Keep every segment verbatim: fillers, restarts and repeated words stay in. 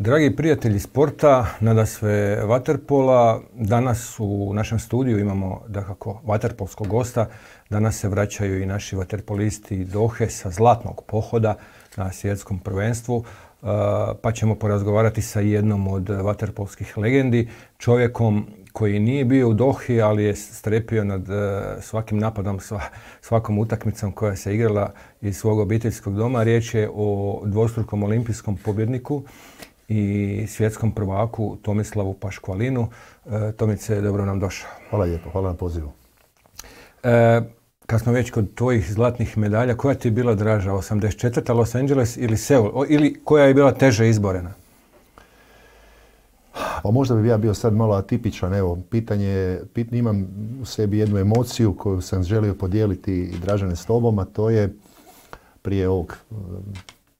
Dragi prijatelji sporta, nadasve vaterpola, danas u našem studiju imamo dakako vaterpolskog gosta. Danas se vraćaju i naši vaterpolisti Dohe sa zlatnog pohoda na svjetskom prvenstvu, pa ćemo porazgovarati sa jednom od vaterpolskih legendi, čovjekom koji nije bio u Dohi, ali je strepio nad svakim napadom, svakom utakmicom koja se igrala iz svog obiteljskog doma. Riječ je o dvostrukom olimpijskom pobjedniku i svjetskom prvaku Tomislavu Paškvalinu. E, Tomice, dobro nam došao. Hvala lijepo, hvala na pozivu. E, kad smo već kod tvojih zlatnih medalja, koja ti je bila draža? osamdeset četvrta Los Angeles ili Seul? O, ili koja je bila teže izborena? Pa možda bi ja bio sad malo atipičan. Evo, pitanje, pit, imam u sebi jednu emociju koju sam želio podijeliti i Dražene s tobom, a to je prije ovog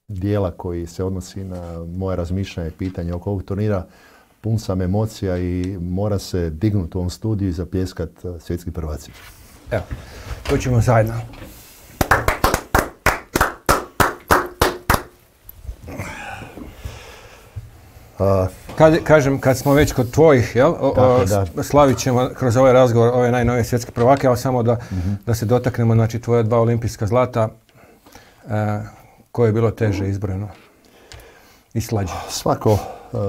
dijela koji se odnosi na moje razmišljanje i pitanje oko ovog turnira. Pun sam emocija i mora se dignuti u ovom studiju i zapljeskat svjetski prvaci. Evo, to ćemo zajedno. A, kad, kažem, kad smo već kod tvojih, jel, o, o, slavit ćemo kroz ovaj razgovor ove najnovije svjetske prvake, ali samo da, mm-hmm. da se dotaknemo, znači, tvoja dva olimpijska zlata. E, koje je bilo teže izbrojeno i slađe? Svako,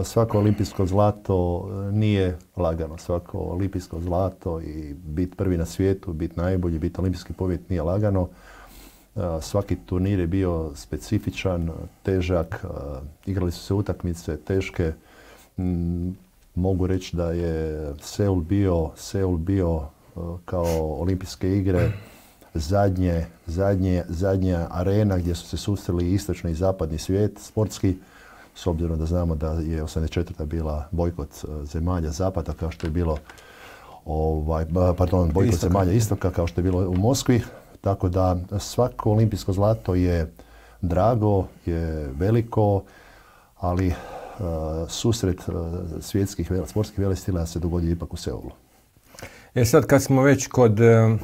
svako olimpijsko zlato nije lagano. Svako olimpijsko zlato i biti prvi na svijetu, biti najbolji, biti olimpijski pobjednik nije lagano. Svaki turnir je bio specifičan, težak, igrali su se utakmice teške. Mogu reći da je Seul bio, Seul bio kao olimpijske igre Zadnje, zadnje, zadnja arena gdje su se susreli istočni i zapadni svijet sportski, s obzirom da znamo da je osamdeset četvrta bila bojkot zemalja zapada, kao što je bilo ovaj, pardon, bojkot istoka. zemalja istoka, kao što je bilo u Moskvi. Tako da svako olimpijsko zlato je drago, je veliko, ali uh, susret uh, svjetskih sportskih velestila se dogodio ipak u Seulu. E sad, kad smo već kod uh...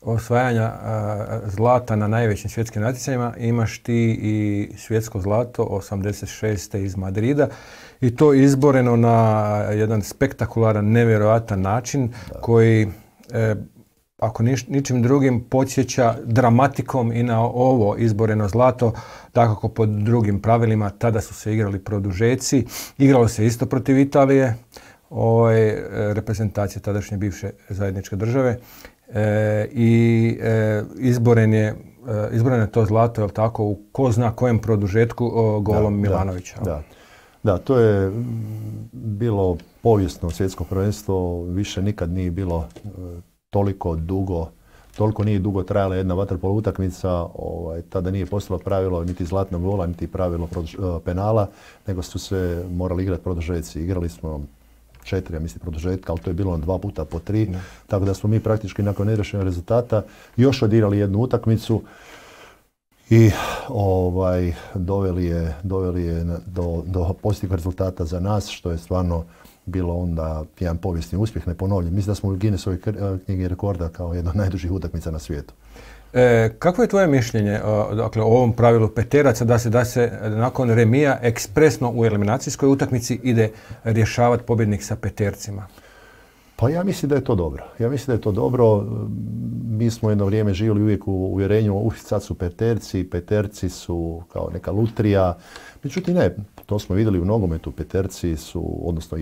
osvajanja a, zlata na najvećim svjetskim natjecanjima, imaš ti i svjetsko zlato osamdeset šeste iz Madrida i to izboreno na jedan spektakularan, nevjerojatan način da. koji, e, ako niš, ničim drugim, podsjeća dramatikom i na ovo izboreno zlato, takako pod drugim pravilima. Tada su se igrali produžeci, igralo se isto protiv Italije, ovaj, reprezentacije tadašnje bivše zajedničke države. E, i e, izboren je, e, izboren je to zlato, jel tako, u ko zna kojem produžetku o, golom da, Milanovića. Da, da. da, to je bilo povijesno svjetsko prvenstvo, više nikad nije bilo e, toliko dugo, toliko nije dugo trajala jedna vaterpolo utakmica, ovaj, tada nije postalo pravilo niti zlatnog gola, niti pravilo produž, penala, nego su se morali igrati produžeci. Igrali smo četiri, ja mislim, produžetka, ali to je bilo dva puta po tri. Ne. Tako da smo mi praktički nakon neriješenog rezultata još odigrali jednu utakmicu i ovaj, doveli je, doveli je do, do pozitivnog rezultata za nas, što je stvarno bilo onda jedan povijesni uspjeh, neponovljen. Mislim da smo u Guinnessovoj knjigi rekorda kao jedna od najdužih utakmica na svijetu. E, kako je tvoje mišljenje o, dakle, o ovom pravilu peteraca da se, da se nakon remija ekspresno u eliminacijskoj utakmici ide rješavati pobjednik sa petercima? Pa ja mislim da je to dobro. Ja mislim da je to dobro. Mi smo jedno vrijeme živjeli uvijek u uvjerenju, uh, sad su peterci, peterci su kao neka lutrija. Međutim ne, to smo vidjeli u nogometu, peterci su, odnosno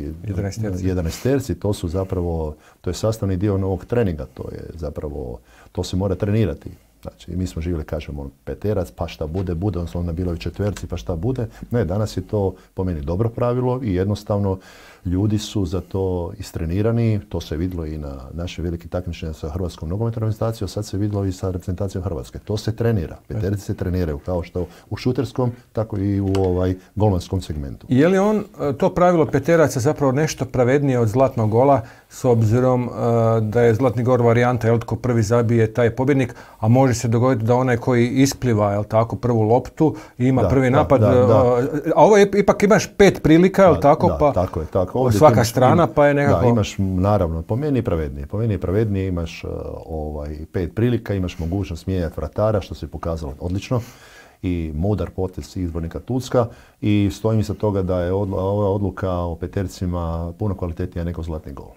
jedanaesterci, to su zapravo, to je sastavni dio novog treninga, to je zapravo, to se mora trenirati. Znači, mi smo živjeli, kažemo, peterac, pa šta bude, bude, odnosno onda bilo i četverci, pa šta bude. Ne, danas je to po meni dobro pravilo i jednostavno ljudi su za to istrenirani. To se vidjelo i na naše velike takmičenja sa Hrvatskom nogometnom reprezentacijom, sad se vidjelo i sa reprezentacijom Hrvatske. To se trenira. Peterci se treniraju kao što u šuterskom, tako i u ovaj golmanskom segmentu. Je li on, to pravilo peteraca, zapravo nešto pravednije od zlatnog gola, s obzirom uh, da je zlatni gol varijanta, jel, tko prvi zabije, taj je pobjednik, a može se dogoditi da onaj koji ispliva, jel tako, prvu loptu i ima da, prvi da, napad, da, da. Uh, a ovo je, ipak imaš pet prilika, jel tako, da, pa tako je, tako. Ovdje svaka imaš, strana, pa je nekako... Da, imaš, naravno, po meni je pravednije, po meni je pravednije, imaš uh, ovaj, pet prilika, imaš mogućnost mijenjati vratara, što se pokazalo odlično. i mudar potez izbornika Tucka i stojim iza toga da je ova odluka o petercima puno kvalitetnija nego zlatni gol.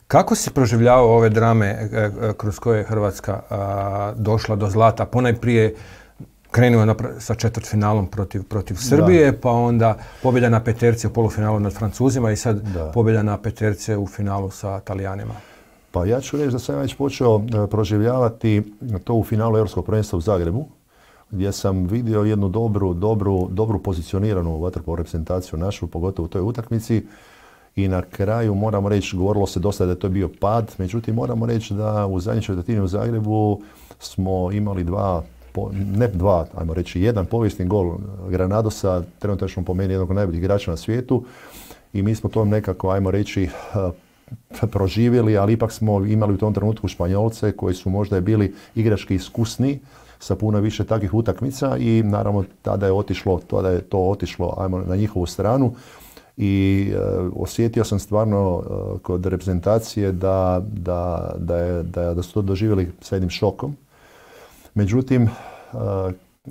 Kako si proživljavao ove drame kroz koje je Hrvatska a, došla do zlata? Ponajprije krenuo sa četvrtfinalom protiv, protiv Srbije, da. Pa onda pobjeda na peterce u polufinalu nad Francuzima i sad da. pobjeda na peterce u finalu sa Talijanima. Pa ja ću reći da sam već počeo proživljavati to u finalu Europskog prvenstva u Zagrebu, gdje sam vidio jednu dobru, dobru, dobru pozicioniranu vaterpolo reprezentaciju našu, pogotovo u toj utakmici. I na kraju moramo reći, govorilo se dosta da je to bio pad, međutim moramo reći da u zadnjoj četvrtini u Zagrebu smo imali dva, ne dva, ajmo reći jedan povijesni gol Granadosa, trenutačno po meni jednog od najboljih igrača na svijetu i mi smo to nekako, ajmo reći, proživjeli, ali ipak smo imali u tom trenutku Španjolce koji su možda bili igrački iskusni sa puno više takvih utakmica i naravno tada je otišlo, tada je to otišlo ajmo, na njihovu stranu. I uh, osjetio sam stvarno uh, kod reprezentacije da, da, da, je, da, da su to doživjeli sa jednim šokom. Međutim, uh,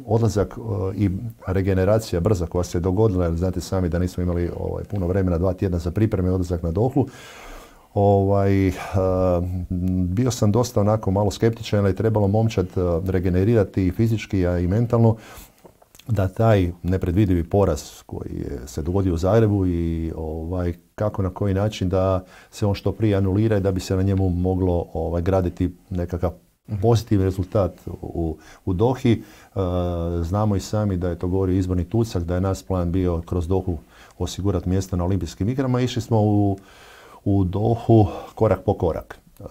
odlazak uh, i regeneracija brza koja se dogodila, jer znate sami da nismo imali ovaj, puno vremena, dva tjedna za pripreme, odlazak na Dohu, ovaj, uh, bio sam dosta onako malo skeptičan, ali je trebalo momčad uh, regenerirati i fizički, a i mentalno, da taj nepredvidivi poraz koji je se dogodio u Zagrebu i ovaj, kako na koji način da se on što prije anulira i da bi se na njemu moglo ovaj, graditi nekakav pozitivni rezultat u, u Dohi. E, znamo i sami da je to govorio izborni Tucak, da je naš plan bio kroz Dohu osigurati mjesto na olimpijskim igrama. Išli smo u, u Dohu korak po korak. Uh,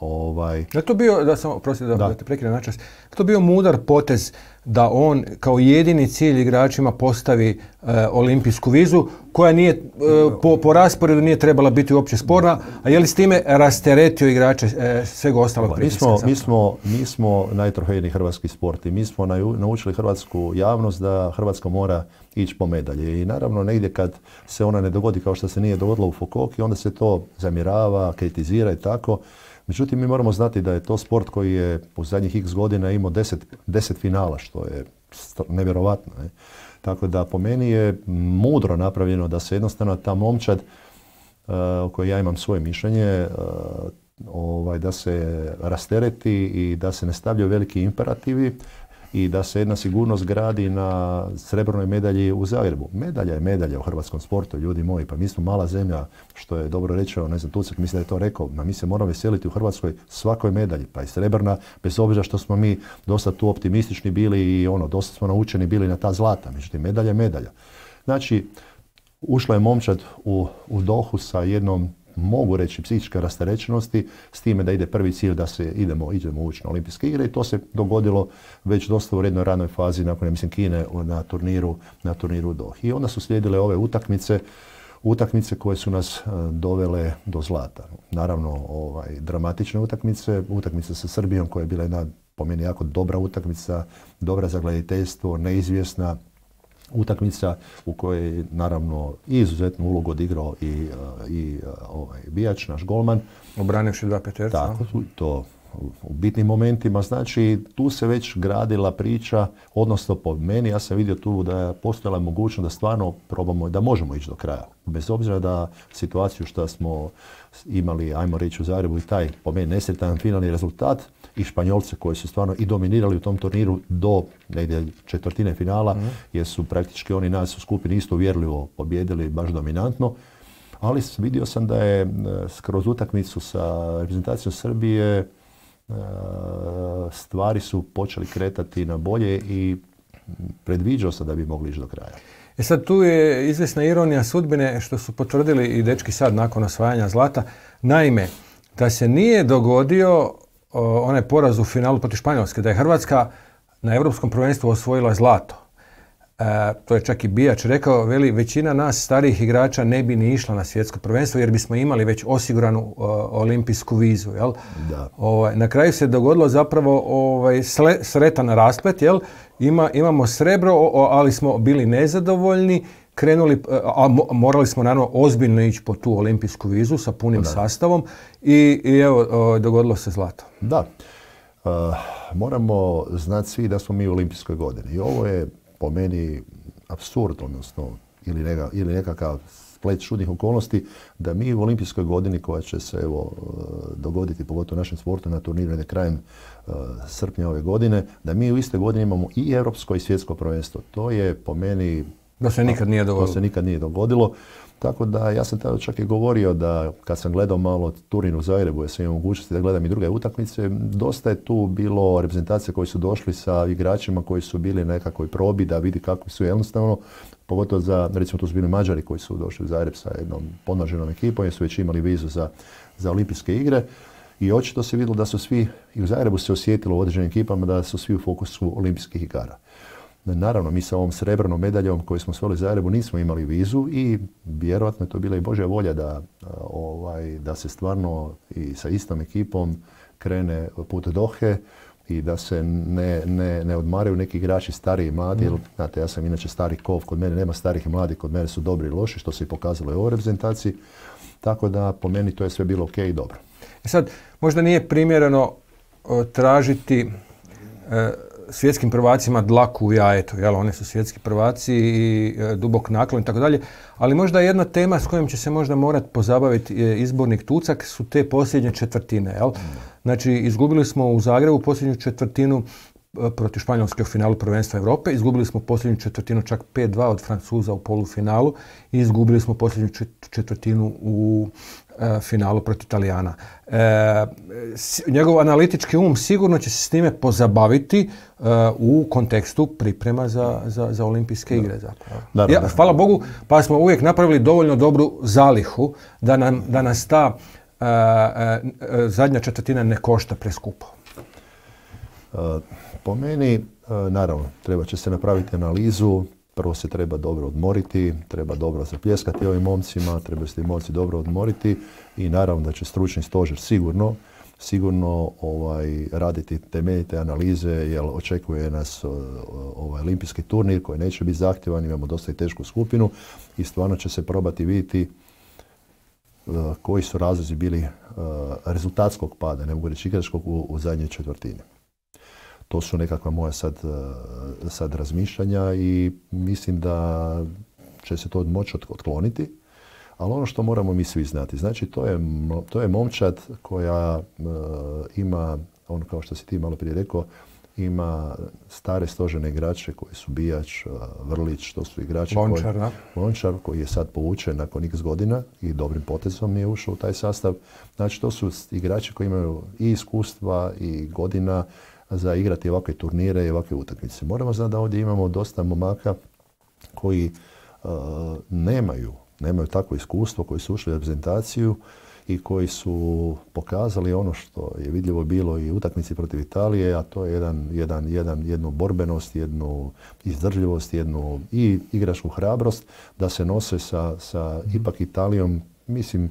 ovaj. Je to bio, da sam, prosti da, da. da te prekinem načas, je to bio mudar potez da on kao jedini cilj igračima postavi uh, olimpijsku vizu koja nije, uh, po, po rasporedu nije trebala biti uopće sporna, a je li s time rasteretio igrače uh, svega ostalog pritiska? Mi smo, mi smo, mi smo najtrofejniji hrvatski sport i mi smo naučili hrvatsku javnost da Hrvatska mora ići po medalje. I naravno negdje kad se ona ne dogodi kao što se nije dogodilo u Fukuoki, onda se to zamjerava, kritizira i tako. Međutim, mi moramo znati da je to sport koji je u zadnjih x godina imao deset, deset finala, što je nevjerovatno. Ne? Tako da po meni je mudro napravljeno da se jednostavno ta momčad, uh, o kojoj ja imam svoje mišljenje, uh, ovaj, da se rastereti i da se ne stavljaju veliki imperativi i da se jedna sigurnost gradi na srebrnoj medalji u Zagrebu. Medalja je medalja u hrvatskom sportu, ljudi moji, pa mi smo mala zemlja, što je dobro rečeno, ne znam, Tucak mislim da je to rekao, ma mi se moramo veseliti u Hrvatskoj svakoj medalji, pa i srebrna, bez obzira što smo mi dosta tu optimistični bili i ono, dosta smo naučeni bili na ta zlata, međutim, medalja je medalja. Znači, ušla je momčad u, u Dohu sa jednom, mogu reći, psihičke rasterećenosti, s time da ide prvi cilj da se idemo, idemo ući na olimpijske igre i to se dogodilo već dosta u jednoj ranoj fazi nakon, mislim, Kine na turniru, na turniru u Dohi. I onda su slijedile ove utakmice, utakmice koje su nas dovele do zlata. Naravno, ovaj, dramatične utakmice, utakmice sa Srbijom koja je bila jedna, po meni, jako dobra utakmica, dobra za gledateljstvo, neizvjesna utakmica u kojoj je naravno i izuzetnu ulogu odigrao i, i ovaj, Bijač, naš golman. Obranivši dva peterca. Tako, to u bitnim momentima. Znači, tu se već gradila priča, odnosno po meni, ja sam vidio tu da je postojala mogućnost da stvarno probamo, da možemo ići do kraja. Bez obzira da situaciju što smo imali, ajmo reći, u Zagrebu i taj, po meni, nesretan finalni rezultat i Španjolce koji su stvarno i dominirali u tom turniru do negdje četvrtine finala, mm. jer su praktički oni nas u skupini isto uvjerljivo pobjedili baš dominantno. Ali vidio sam da je kroz utakmicu sa reprezentacijom Srbije stvari su počeli kretati na bolje i predviđao sam da bi mogli ići do kraja. E sad tu je izvjesna ironija sudbine što su potvrdili i dečki sad nakon osvajanja zlata. Naime, da se nije dogodio o, onaj poraz u finalu protiv Španjolske, da je Hrvatska na Europskom prvenstvu osvojila zlato. E, to je čak i Bijač rekao, veli, većina nas starijih igrača ne bi ni išla na svjetsko prvenstvo jer bismo imali već osiguranu o, olimpijsku vizu. Jel? Da. Ovaj, na kraju se dogodilo zapravo ovaj, sle, sretan rasplet, jel? Ima, imamo srebro, o, ali smo bili nezadovoljni, krenuli, a morali smo naravno ozbiljno ići po tu olimpijsku vizu sa punim da. sastavom i, i evo, o, dogodilo se zlato. Da. Uh, moramo znati svi da smo mi u olimpijskoj godini. I ovo je po meni apsurd, odnosno ili, neka, ili nekakav splet čudnih okolnosti da mi u olimpijskoj godini koja će se evo dogoditi pogotovo našem sportu na turniru krajem uh, srpnja ove godine, da mi u iste godine imamo i europsko i svjetsko prvenstvo. To je po meni... Da se nikad nije dogodilo. To se nikad nije dogodilo. Tako da ja sam tada čak i govorio da kad sam gledao malo turnir u Zagrebu, ja sam imao mogućnosti da gledam i druge utakmice, dosta je tu bilo reprezentacija koji su došli sa igračima koji su bili na nekakvoj probi da vidi kako su jednostavno, pogotovo za, recimo tu su bili Mađari koji su došli u Zagreb sa jednom podmlađenom ekipom jer su već imali vizu za, za olimpijske igre i očito se vidjelo da su svi, i u Zagrebu se osjetilo u određenim ekipama da su svi u fokusu olimpijskih igara. Naravno, mi sa ovom srebrnom medaljom koju smo osvojili u Zagrebu nismo imali vizu i vjerojatno je to bila i Božja volja da, ovaj, da se stvarno i sa istom ekipom krene put Dohe i da se ne, ne, ne odmaraju neki igrači stariji i mladi. Jer, znate, ja sam inače stari kov, kod mene nema starih i mladih, kod mene su dobri i loši, što se i pokazalo i u ovoj reprezentaciji. Tako da po meni to je sve bilo ok i dobro. E sad, možda nije primjereno o, tražiti e, svjetskim prvacima dlaku u jajetu, jel? Oni su svjetski prvaci i e, dubok naklon i tako dalje, ali možda jedna tema s kojom će se možda morati pozabaviti e, izbornik Tucak su te posljednje četvrtine, jel? Znači, izgubili smo u Zagrebu posljednju četvrtinu e, protiv Španjolske u finalu prvenstva Europe, izgubili smo posljednju četvrtinu čak pet dva od Francuza u polufinalu i izgubili smo posljednju četvrtinu u e, finalu protiv Italijana. E, njegov analitički um sigurno će se s time pozabaviti uh, u kontekstu priprema za, za, za olimpijske igre. Da, ja, hvala Bogu, pa smo uvijek napravili dovoljno dobru zalihu da, nam, da nas ta uh, uh, zadnja četvrtina ne košta preskupo. Uh, po meni, uh, naravno, treba će se napraviti analizu. Prvo se treba dobro odmoriti, treba dobro zapljeskati ovim momcima, treba se ti momci dobro odmoriti i naravno da će stručni stožer sigurno, sigurno ovaj, raditi temeljite analize jer očekuje nas ovaj, olimpijski turnir koji neće biti zahtjevan, imamo dosta i tešku skupinu i stvarno će se probati vidjeti uh, koji su razlozi bili uh, rezultatskog pada, ne mogu reći igračkog u, u zadnjoj četvrtini. To su nekakva moja sad, sad razmišljanja i mislim da će se to moći otkloniti. Ali ono što moramo mi svi znati, znači to je, to je momčad koja uh, ima, ono kao što si ti malo prije rekao, ima stare stožene igrače koji su Bijač, uh, Vrlić, to su igrači Lončar, koji, Lončar koji je sad povučen nakon x godina i dobrim potezom nije ušao u taj sastav. Znači to su igrači koji imaju i iskustva i godina za igrati ovakve turnire i ovakve utakmice. Moramo znati da ovdje imamo dosta momaka koji uh, nemaju, nemaju takvo iskustvo, koji su ušli u reprezentaciju i koji su pokazali ono što je vidljivo bilo i u utakmici protiv Italije, a to je jedan, jedan, jedan, jednu borbenost, jednu izdržljivost, jednu i igračku hrabrost da se nose sa, sa ipak Italijom. Mislim,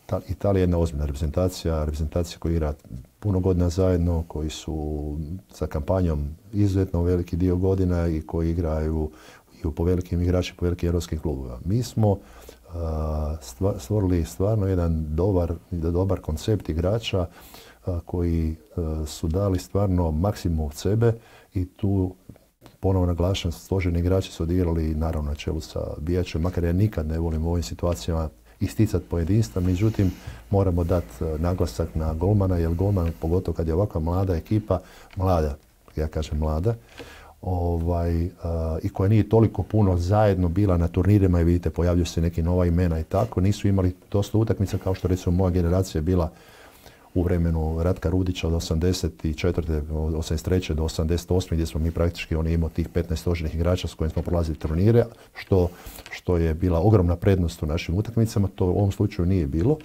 ta, Italija je jedna ozbiljna reprezentacija, reprezentacija koja igra puno godina zajedno, koji su sa kampanjom izuzetno veliki dio godina i koji igraju i po velikim igračima, po velikim europskim klubovima. Mi smo uh, stvorili stvarno jedan dobar, dobar koncept igrača uh, koji uh, su dali stvarno maksimum od sebe i tu ponovo naglašam, stožerni igrači su odigrali naravno na čelu sa Bijačem, makar ja nikad ne volim u ovim situacijama isticati pojedinstva, međutim moramo dati naglasak na golmana, jer golman, pogotovo kad je ovakva mlada ekipa, mlada, ja kažem mlada, ovaj, uh, i koja nije toliko puno zajedno bila na turnirima i vidite pojavljuju se neki nova imena i tako, nisu imali dosta utakmica kao što recimo moja generacija je bila u vremenu Ratka Rudića od osamdeset četvrte. osamdeset treće do osamdeset osme gdje smo mi praktički on imao tih petnaest stožernih igrača s kojim smo prolazili turnire, što, što je bila ogromna prednost u našim utakmicama. To u ovom slučaju nije bilo,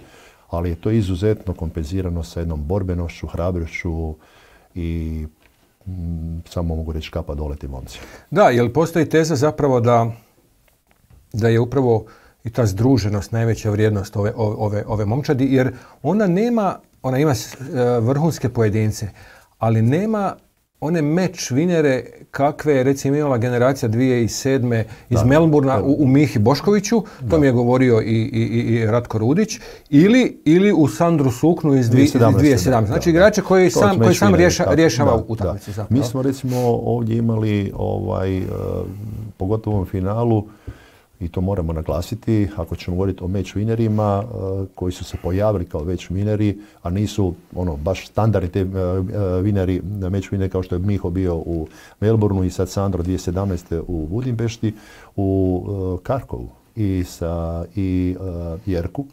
ali je to izuzetno kompenzirano sa jednom borbenošću, hrabrošću i mm, samo mogu reći kapa dole ti momci. Da, jer postoji teza zapravo da, da je upravo i ta združenost najveća vrijednost ove, ove, ove momčadi, jer ona nema, ona ima vrhunske pojedince, ali nema one meč vinere kakve je recimo imala generacija dvije tisuće sedme iz da, Melbourna u, u Mihi Boškoviću, to da. mi je govorio i, i, i Ratko Rudić, ili, ili u Sandru Suknu iz dvije tisuće sedamnaeste. Znači igrače koji to sam, koji sam rješa, rješava utakmicu. Mi smo recimo ovdje imali, ovaj, uh, pogotovo u finalu, i to moramo naglasiti, ako ćemo govoriti o match winerima uh, koji su se pojavili kao match winneri, a nisu ono, baš standardni te uh, winneri, match winneri kao što je Miho bio u Melbourneu i sad Sandro dvije tisuće sedamnaeste u Budimpešti, u uh, Karkovu i, sa, i uh, Jerku.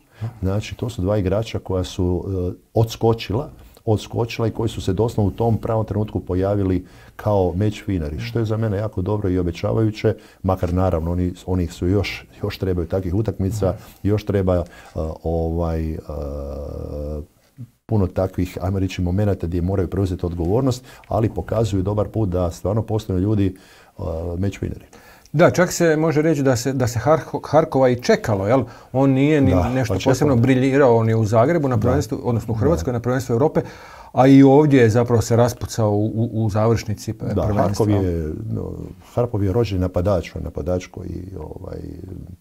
Znači, to su dva igrača koja su uh, odskočila odskočila i koji su se doslovno u tom pravom trenutku pojavili kao match winneri, što je za mene jako dobro i obećavajuće, makar naravno oni, oni su još, još trebaju takvih utakmica, još treba uh, ovaj, uh, puno takvih, ajmo reći, momenata gdje moraju preuzeti odgovornost, ali pokazuju dobar put da stvarno postoje ljudi uh, match winneri. Da, čak se može reći da se, da se Harkova i čekalo, jel? On nije ni da, nešto pa posebno briljirao ni u Zagrebu, na prvenstvu, odnosno u Hrvatskoj, da. na prvenstvu Europe, a i ovdje je zapravo se raspucao u, u, u završnici da, prvenstva. Harkov je, no, Harkov je rođeni napadač, napadač koji ovaj,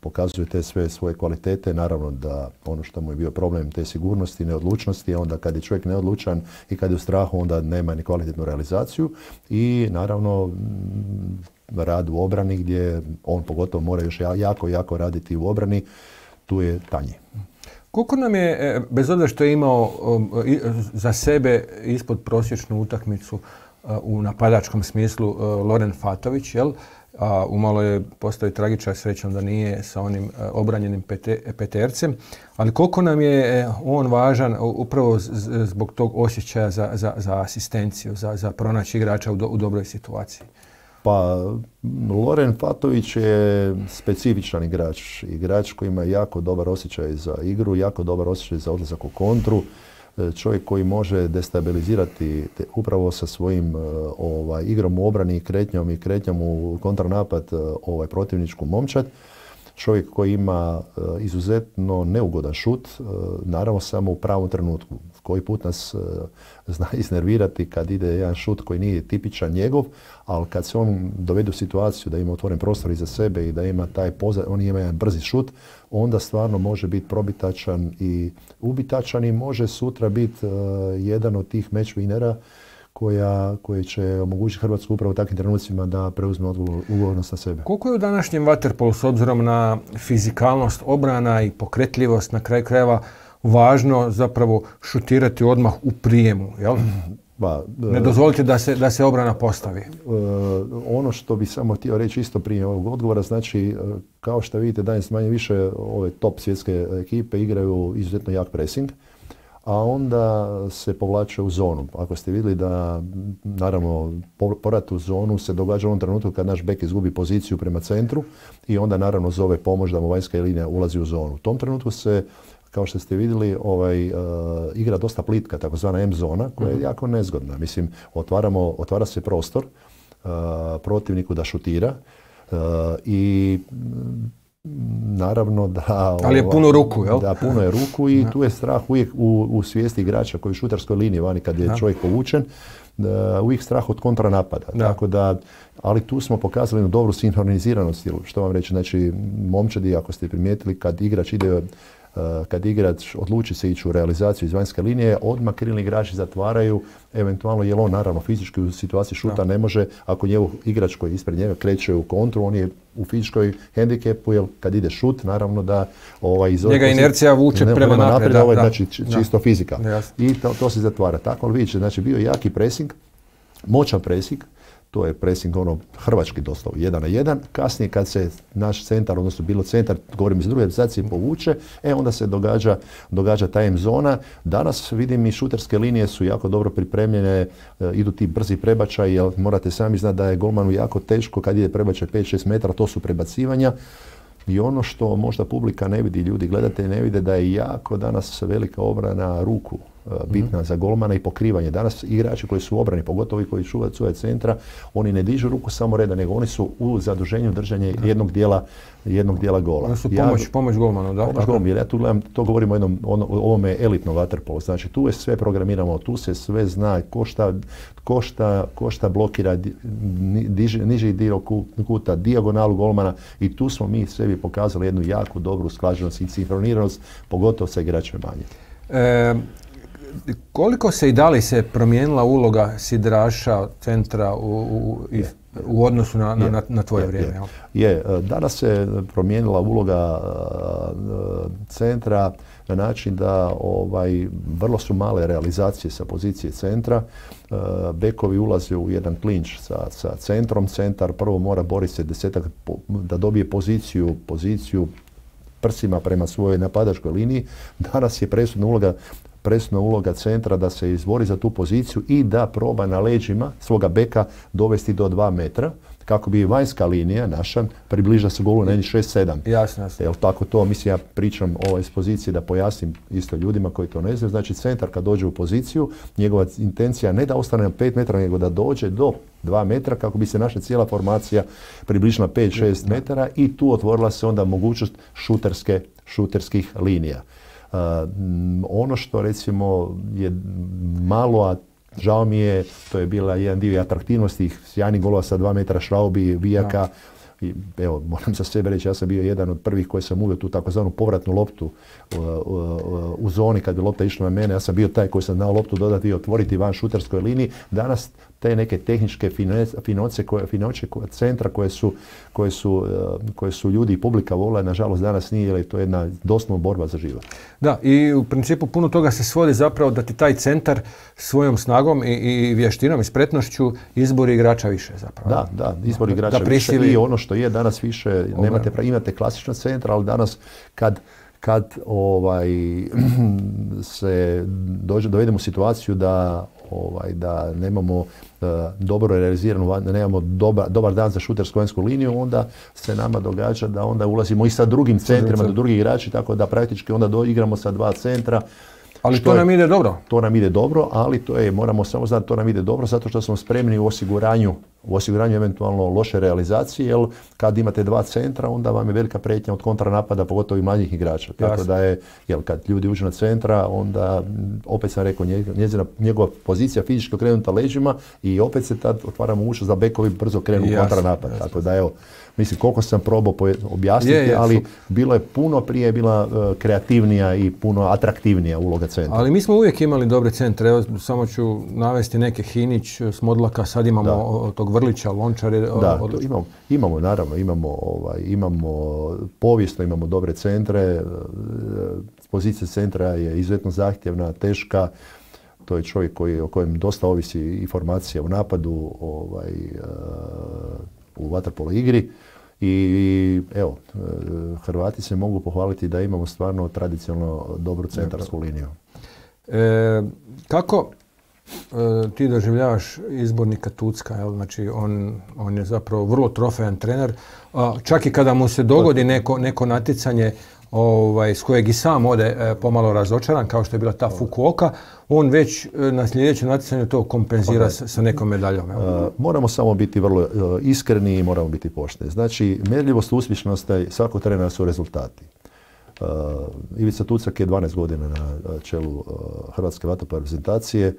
pokazuje te sve svoje kvalitete, naravno da ono što mu je bio problem te sigurnosti, neodlučnosti, onda kad je čovjek neodlučan i kad je u strahu, onda nema ni kvalitetnu realizaciju i naravno rad u obrani gdje on pogotovo mora još jako, jako raditi u obrani, tu je tanji. Koliko nam je, bez obzira što je imao za sebe ispod prosječnu utakmicu u napadačkom smislu Loren Fatović, jel? A umalo je postao tragičan, srećom da nije sa onim obranjenim petercem, ali koliko nam je on važan upravo zbog tog osjećaja za, za, za asistenciju, za, za pronaći igrača u, do, u dobroj situaciji? Pa, Loren Fatović je specifičan igrač. Igrač koji ima jako dobar osjećaj za igru, jako dobar osjećaj za odlazak u kontru. Čovjek koji može destabilizirati te, upravo sa svojim ovaj, igrom u obrani i kretnjom i kretnjom u kontranapad ovaj, protivničku momčad. Čovjek koji ima uh, izuzetno neugodan šut, uh, naravno samo u pravom trenutku. Koji put nas uh, zna iznervirati kad ide jedan šut koji nije tipičan njegov, ali kad se on dovede u situaciju da ima otvoren prostor iza sebe i da ima taj pozad, on ima jedan brzi šut, onda stvarno može biti probitačan i ubitačan i može sutra biti uh, jedan od tih match winnera koja, koje će omogućiti Hrvatsku upravo u takvim trenucima da preuzme odgovornost na sebe. Koliko je u današnjem vaterpolu s obzirom na fizikalnost obrana i pokretljivost na kraju krajeva važno zapravo šutirati odmah u prijemu, jel? Ba, ne dozvolite da se, da se obrana postavi. Uh, ono što bi samo htio reći isto prije ovog odgovora, znači kao što vidite danas manje više ove top svjetske ekipe igraju izuzetno jak pressing, a onda se povlače u zonu. Ako ste vidjeli da, naravno, povrat u zonu se događa u onom trenutku kad naš bek izgubi poziciju prema centru i onda naravno zove pomoć da mu vanjska linija ulazi u zonu. U tom trenutku se, kao što ste vidjeli, ovaj, uh, igra dosta plitka, takozvana M zona, koja je jako nezgodna. Mislim, otvaramo, otvara se prostor uh, protivniku da šutira uh, i naravno da... Ali je puno ruku, jel? Da, puno je ruku i tu je strah uvijek u, u svijesti igrača koji je u šutarskoj liniji vani kad je da. čovjek povučen, da, uvijek strah od kontranapada. Da. Tako da, ali tu smo pokazali jednu dobru sinhroniziranost, što vam reći, znači momčadi, ako ste primijetili, kad igrač ide kad igrač odluči se ići u realizaciju iz vanjske linije, odmah krilni igrači zatvaraju, eventualno jer on naravno fizički u situaciji šuta da. ne može, ako njegov igrač koji ispred njega kreće u kontru, on je u fizičkoj hendikepu, jer kad ide šut, naravno da ovaj, iz njega inercija vuče ne, prema naprijed, naprijed da, ovaj, da, znači čisto da. fizika. Da, I to, to se zatvara. Tako ali vidite, znači bio je jaki pressing, moćan pressing, to je pressing ono hrvački doslovno, jedan na jedan. Kasnije kad se naš centar, odnosno bilo centar, govorim iz druge realizacije, povuče, e onda se događa, događa ta M zona. Danas vidim i šuterske linije su jako dobro pripremljene, e, idu ti brzi prebačaj, jer morate sami znati da je golmanu jako teško kad ide prebačaj pet šest metara, to su prebacivanja. I ono što možda publika ne vidi, ljudi gledatelji ne vide, da je jako danas velika obrana ruku. bitna mm-hmm. za golmana i pokrivanje. Danas igrači koji su u obrani, pogotovo i koji čuvaju svoje centra, oni ne dižu ruku samo reda, nego oni su u zaduženju držanja da. jednog dijela jednog dijela gola. Oni su pomoć, ja, pomoć golmanu, da? Pomoć golmanu, jer ja tu gledam, to govorimo o jednom, ono, ovome elitnom vaterpolu. Znači tu je sve programiramo, tu se sve zna, ko šta, ko šta, ko šta blokira diži, niži dio kuta, dijagonalu golmana i tu smo mi sebi pokazali jednu jako dobru usklađenost i sinhroniranost, pogotovo sa igračima manje. E, koliko se i da li se promijenila uloga sidraša centra u, u, u, u odnosu na, na, na, na tvoje je, vrijeme? Je. je, danas se promijenila uloga centra na način da ovaj, vrlo su male realizacije sa pozicije centra. Bekovi ulaze u jedan klinč sa, sa centrom. Centar prvo mora boriti se desetak da dobije poziciju, poziciju prsima prema svojoj napadačkoj liniji. Danas je presudna uloga presudna uloga centra da se izbori za tu poziciju i da proba na leđima svoga beka dovesti do dva metra, kako bi vanjska linija naša približila se golu na jednih šest sedam. Jasno, jasno. Jel tako to, mislim, ja pričam o ovoj poziciji da pojasnim isto ljudima koji to ne znaju. Znači centar kad dođe u poziciju, njegova intencija ne da ostane na pet metara, nego da dođe do dva metra kako bi se naša cijela formacija približila pet šest metara i tu otvorila se onda mogućnost šuterske, šuterskih linija. Uh, ono što recimo je malo, a žao mi je, to je bila jedan dio atraktivnosti sjajnih golova sa dva metra Šraubi, Vijaka. I, evo, moram za sebe reći, ja sam bio jedan od prvih koji sam uveo tu takozvanu povratnu loptu uh, uh, u zoni kad bi lopta išla na mene. Ja sam bio taj koji sam znao loptu dodati i otvoriti van šuterskoj liniji. Danas te neke tehničke finoće koje, finoće koje, centra koje su, koje, su, uh, koje su ljudi i publika vole, nažalost danas nije, jer je to jedna doslovna borba za život. Da, i u principu puno toga se svodi zapravo da ti taj centar svojom snagom i, i vještinom i spretnošću izbori igrača više zapravo. Da, da, izbori igrača da više i ono što je danas više, nemate, imate klasičan centar, ali danas kad kad ovaj, se dođe, dovedemo u situaciju da, ovaj, da nemamo uh, dobro realiziranu, da nemamo doba, dobar dan za šutersku vanjsku liniju, onda se nama događa da onda ulazimo i sa drugim centrima do drugih igrači, tako da praktički onda do, igramo sa dva centra. Ali to nam ide dobro. To nam ide dobro, ali to je, moramo samo znati, to nam ide dobro zato što smo spremni u osiguranju, u osiguranju eventualno loše realizacije, jer kad imate dva centra, onda vam je velika prijetnja od kontranapada, pogotovo i mlađih igrača. Tako Jasne. Da je, jer kad ljudi uđu na centra, onda, opet sam rekao, njezina, njegova pozicija fizički okrenuta leđima i opet se tad otvara mogućnost da bekovi brzo krenu u kontranapad. Jasne. Tako da evo, mislim, koliko sam probao objasniti, je, je, ali su... bilo je puno prije, bila uh, kreativnija i puno atraktivnija uloga centra. Ali mi smo uvijek imali dobre centre. Evo, samo ću navesti neke Hinić, Smodlaka, sad imamo o, tog Vrlića, Lončar. Da, od... to imamo, imamo, naravno, imamo, ovaj, imamo povijesno, imamo dobre centre. Pozicija centra je izuzetno zahtjevna, teška. To je čovjek koji, o kojem dosta ovisi informacija u napadu, ovaj, u vaterpolo igri. I evo, Hrvati se mogu pohvaliti da imamo stvarno tradicionalno dobru centarsku liniju. E, kako e, ti doživljavaš izbornika Tucka? Jel? Znači, on, on je zapravo vrlo trofejan trener. A, čak i kada mu se dogodi neko, neko natjecanje ovaj, s kojeg i sam ode e, pomalo razočaran, kao što je bila ta Fukuoka, on već e, na sljedećem natjecanju to kompenzira okay. sa, sa nekom medaljom. Uh, moramo samo biti vrlo uh, iskreni i moramo biti pošteni. Znači, mjerljivost uspješnosti svakog trenera su rezultati. Uh, Ivica Tucak je dvanaest godina na čelu uh, Hrvatske vaterpolo reprezentacije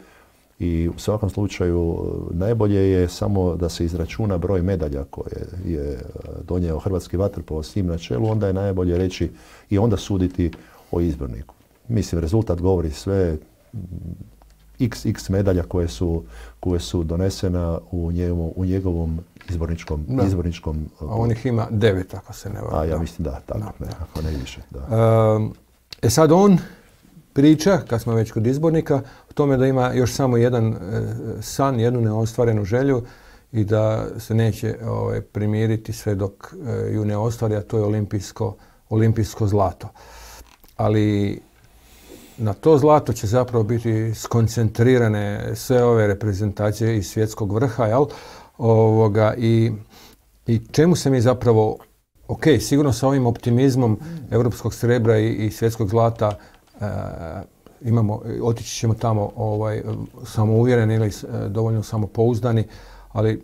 i u svakom slučaju najbolje je samo da se izračuna broj medalja koje je donio Hrvatski vaterpolo s njim na čelu, onda je najbolje reći i onda suditi o izborniku. Mislim, rezultat govori sve, x x medalja koje su, koje su donesena u njegovom, u njegovom izborničkom... Da. izborničkom a on ih ima devet, ako se ne varam. A ja mislim da, tako, da, ne, da. Ako ne više. Da. E sad on priča, kad smo već kod izbornika, o tome da ima još samo jedan e, san, jednu neostvarenu želju i da se neće ovaj, primiriti sve dok e, ju ne ostvari, a to je olimpijsko, olimpijsko zlato. Ali na to zlato će zapravo biti skoncentrirane sve ove reprezentacije iz svjetskog vrha, jel? Ovoga, i, i čemu se mi zapravo, ok, sigurno sa ovim optimizmom europskog srebra i, i svjetskog zlata e, imamo, otići ćemo tamo ovaj, samouvjereni ili dovoljno samopouzdani, ali,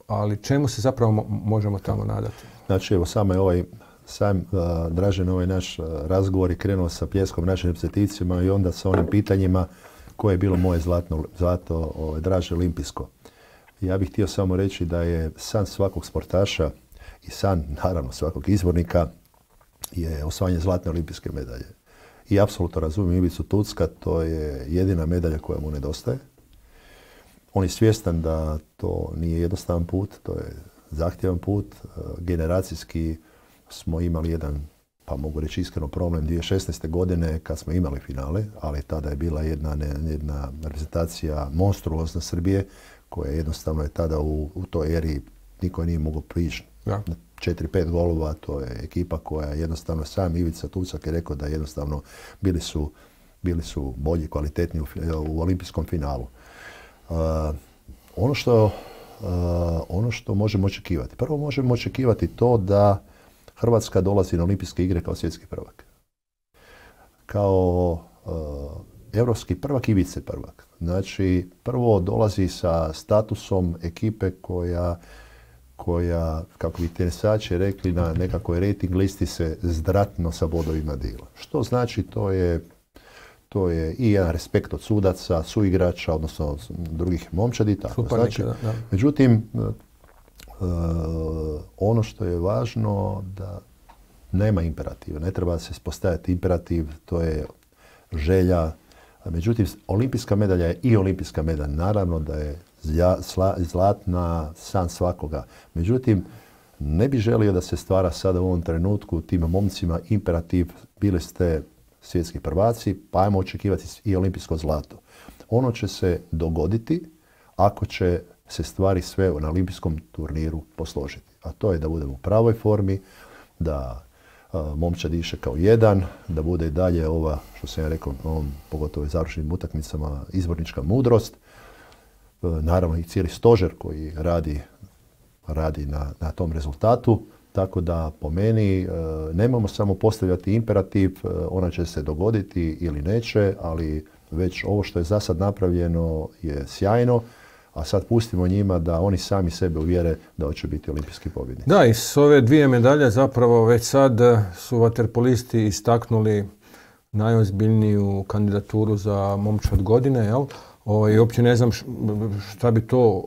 ali čemu se zapravo možemo tamo nadati? Znači, evo, samo je ovaj, sam uh, Dražen, ovaj naš uh, razgovor je krenuo sa pljeskom našim reprezentacijama i onda sa onim pitanjima koje je bilo moje zlatno, zlato ovaj, Draže olimpijsko. Ja bih htio samo reći da je san svakog sportaša i san, naravno, svakog izbornika je osvajanje zlatne olimpijske medalje. I apsolutno razumijem Ivicu Tucka, to je jedina medalja koja mu nedostaje. On je svjestan da to nije jednostavan put, to je zahtjevan put. Generacijski smo imali jedan, pa mogu reći iskreno, problem dvije tisuće šesnaeste. godine kad smo imali finale, ali tada je bila jedna, jedna reprezentacija monstruozna Srbije, koja jednostavno je tada u, u toj eri niko nije mogao prići. Ja. četiri pet golova, to je ekipa koja jednostavno, sam Ivica Tucak je rekao da jednostavno bili su, bili su bolji, kvalitetni u, u olimpijskom finalu. Uh, ono, što, uh, ono što možemo očekivati. Prvo možemo očekivati to da Hrvatska dolazi na olimpijske igre kao svjetski prvak. Kao uh, europski prvak i vice prvak. Znači, prvo dolazi sa statusom ekipe koja koja, kako bi tenisači rekli, na nekakvoj rating listi se zdratno sa bodovima dila. Što znači, to je, to je i jedan respekt od sudaca, suigrača, odnosno drugih momčadi. Tako. Znači, da, da. Međutim, uh, ono što je važno da nema imperativa. Ne treba se postaviti imperativ, to je želja. Međutim, olimpijska medalja je i olimpijska medalja. Naravno da je zlatna san svakoga. Međutim, ne bi želio da se stvara sada u ovom trenutku tim momcima imperativ, bili ste svjetski prvaci, pa ajmo očekivati i olimpijsko zlato. Ono će se dogoditi ako će se stvari sve na olimpijskom turniru posložiti. A to je da budemo u pravoj formi, da uh, momčad diše kao jedan, da bude i dalje ova, što sam ja rekao, ovom, pogotovo u završenim utakmicama, izbornička mudrost. Naravno i cijeli stožer koji radi, radi na, na tom rezultatu. Tako da po meni e, nemamo samo postavljati imperativ, e, ona će se dogoditi ili neće, ali već ovo što je za sad napravljeno je sjajno, a sad pustimo njima da oni sami sebe uvjere da hoće biti olimpijski pobjednici. Da, i s ove dvije medalje zapravo već sad su vaterpolisti istaknuli najozbiljniju kandidaturu za momčad godine, jel? I uopće ne znam šta bi to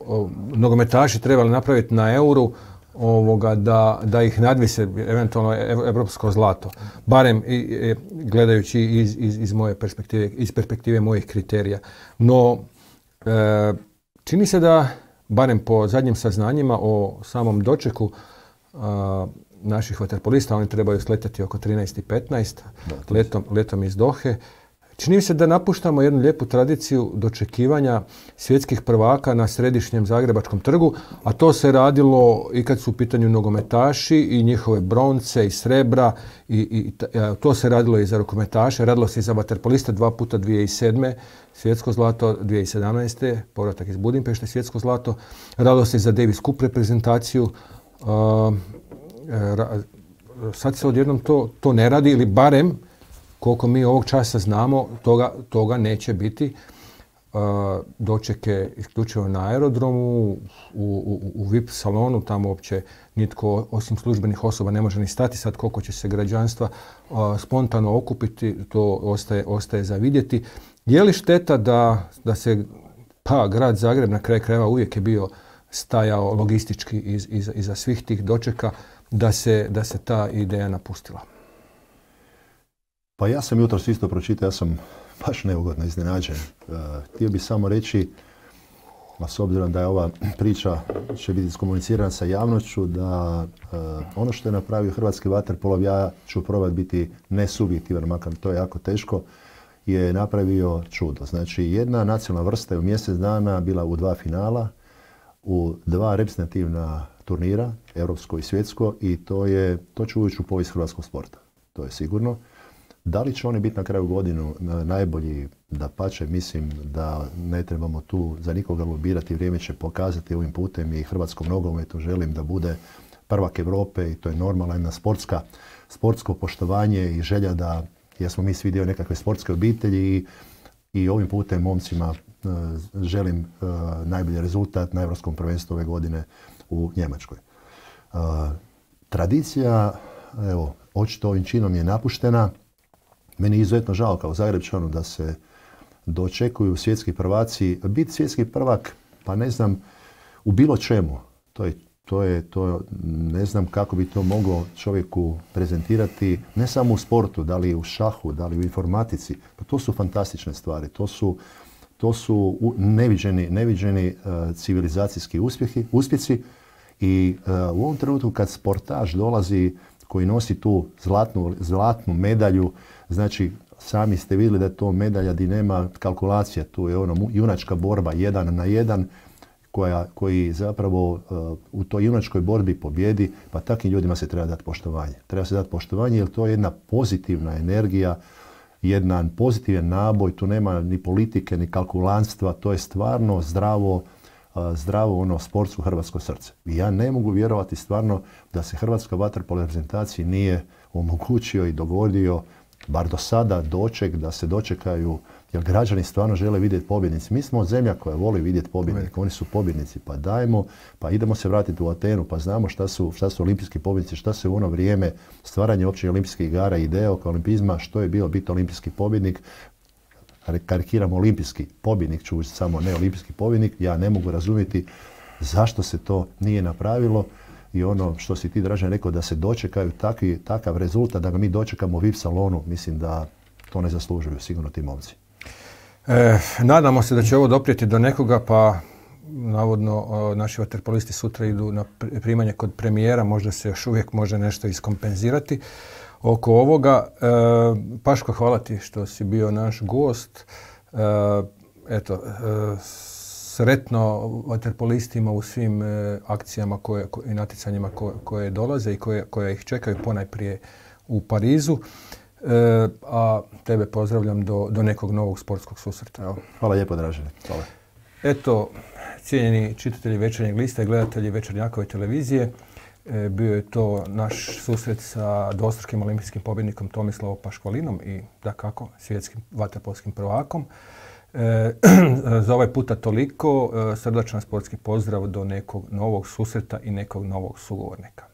nogometaši trebali napraviti na Euru ovoga, da, da ih nadvise eventualno evropsko zlato. Barem i, i, gledajući iz, iz, iz moje perspektive, iz perspektive mojih kriterija. No, e, čini se da, barem po zadnjim saznanjima o samom dočeku a, naših vaterpolista, oni trebaju sletati oko trinaest i petnaest letom, letom iz Dohe. Čini mi se da napuštamo jednu lijepu tradiciju dočekivanja svjetskih prvaka na središnjem Zagrebačkom trgu, a to se radilo i kad su u pitanju nogometaši i njihove bronce i srebra, i, i to se radilo i za rukometaše, radilo se i za vaterpoliste dva puta dvije tisuće sedme. svjetsko zlato, dvije tisuće sedamnaeste. povratak iz Budimpešte, svjetsko zlato, radilo se i za Davis Cup reprezentaciju. Uh, sad se odjednom to, to ne radi, ili barem koliko mi ovog časa znamo, toga, toga neće biti. Uh, dočeke isključivo na aerodromu, u, u, u V I P salonu, tamo uopće nitko osim službenih osoba ne može ni stati. Sad koliko će se građanstva uh, spontano okupiti, to ostaje, ostaje za vidjeti. Je li šteta da, da se, pa grad Zagreb na kraj krajeva uvijek je bio stajao logistički iz, iz, iza svih tih dočeka, da se, da se ta ideja napustila? Pa ja sam jutros isto pročitao, ja sam baš neugodno iznenađen. Uh, htio bih samo reći, a s obzirom da je ova priča će biti iskomunicirana sa javnošću, da uh, ono što je napravio hrvatski vaterpolo, ja ću probati biti nesubjektivan, makar to je jako teško, je napravio čudo. Znači, jedna nacionalna vrsta je u mjesec dana bila u dva finala, u dva reprezentativna turnira, europsko i svjetsko, i to je, to će ući u povijest hrvatskog sporta. To je sigurno. Da li će oni biti na kraju godinu najbolji? Dapače, mislim da ne trebamo tu za nikoga lobirati. Vrijeme će pokazati ovim putem i hrvatskom nogometu. Želim da bude prvak Europe i to je normalna jedna sportska, sportsko poštovanje i želja da jer smo mi svi dio nekakve sportske obitelji i, i ovim putem momcima e, želim e, najbolji rezultat na Europskom prvenstvu ove godine u Njemačkoj. E, tradicija, evo, očito ovim činom je napuštena. Meni je izuzetno žao kao Zagrepčanu da se dočekuju svjetski prvaci. Biti svjetski prvak, pa ne znam, u bilo čemu. To je, to je, to ne znam kako bi to moglo čovjeku prezentirati, ne samo u sportu, da li u šahu, da li u informatici. Pa to su fantastične stvari. To su, to su neviđeni, neviđeni uh, civilizacijski uspjehi, uspjeci. I uh, u ovom trenutku kad sportaš dolazi koji nosi tu zlatnu, zlatnu medalju, znači sami ste vidjeli da je to medalja gdje nema kalkulacija, tu je ono junačka borba jedan na jedan, koja, koji zapravo uh, u toj junačkoj borbi pobjedi, pa takvim ljudima se treba dati poštovanje. Treba se dati poštovanje jer to je jedna pozitivna energija, jedan pozitivan naboj, tu nema ni politike, ni kalkulantstva, to je stvarno zdravo, uh, zdravo ono sportsko hrvatsko srce. I ja ne mogu vjerovati stvarno da se hrvatska vaterpolo reprezentaciji nije omogućio i dogodio, bar do sada, doček, da se dočekaju, jer građani stvarno žele vidjeti pobjednici. Mi smo zemlja koja voli vidjeti pobjednike, oni su pobjednici, pa dajmo, pa idemo se vratiti u Atenu, pa znamo šta su, šta su olimpijski pobjednici, šta se u ono vrijeme stvaranja općih olimpijskih igara i ideja oko olimpizma, što je bio biti olimpijski pobjednik. Karikiramo olimpijski pobjednik, ću samo ne olimpijski pobjednik, ja ne mogu razumjeti zašto se to nije napravilo. I ono što si ti, Dražen, rekao da se dočekaju takvi, takav rezultat, da ga mi dočekamo u V I P salonu, mislim da to ne zaslužuju sigurno ti momci. E, nadamo se da će ovo doprijeti do nekoga, pa navodno o, naši vaterpolisti sutra idu na primanje kod premijera, možda se još uvijek može nešto iskompenzirati oko ovoga. E, Paško, hvala ti što si bio naš gost. E, eto, e, sretno vaterpolistima u svim e, akcijama koje, ko, i natjecanjima koje, koje dolaze i koje, koje ih čekaju ponajprije u Parizu. E, a tebe pozdravljam do, do nekog novog sportskog susreta. Evo. Hvala lijepo, Dražene. Hvala. Eto, cijenjeni čitatelji Večernjeg lista i gledatelji Večernjakove televizije, e, bio je to naš susret sa dvostrukim olimpijskim pobjednikom Tomislavom Paškvalinom i dakako svjetskim vaterpolskim prvakom. E, za ovaj puta toliko. E, srdačan sportski pozdrav do nekog novog susreta i nekog novog sugovornika.